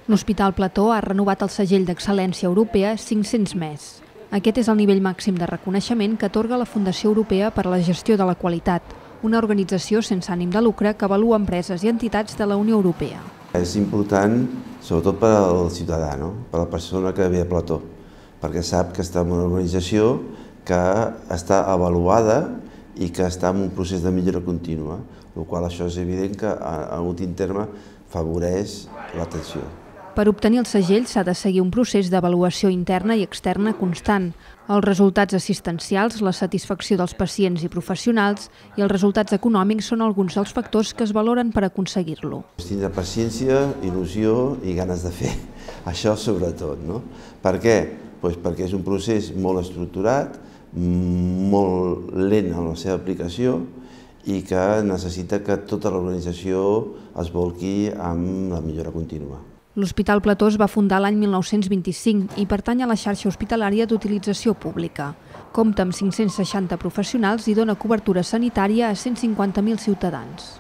L'Hospital Plató ha renovat el segell d'excel·lència europea 500 més. Aquest és el nivell màxim de reconeixement que atorga la Fundació Europea per a la Gestió de la Qualitat, una organització sense ànim de lucre que avalua empreses i entitats de la Unió Europea. És important, sobretot per al ciutadà, per a la persona que ve a Plató, perquè sap que està en una organització que està avaluada i que està en un procés de millora contínua, el qual això és evident que, a últim terme, favoreix l'atenció. Per obtenir el segell s'ha de seguir un procés d'avaluació interna i externa constant. Els resultats assistencials, la satisfacció dels pacients i professionals i els resultats econòmics són alguns dels factors que es valoren per aconseguir-lo. Tindre paciència, il·lusió i ganes de fer, això sobretot. Per què? Perquè és un procés molt estructurat, molt lent en la seva aplicació i que necessita que tota l'organització es volqui amb la millora contínua. L'Hospital Plató es va fundar l'any 1925 i pertany a la xarxa hospitalària d'utilització pública. Compta amb 560 professionals i dona cobertura sanitària a 150.000 ciutadans.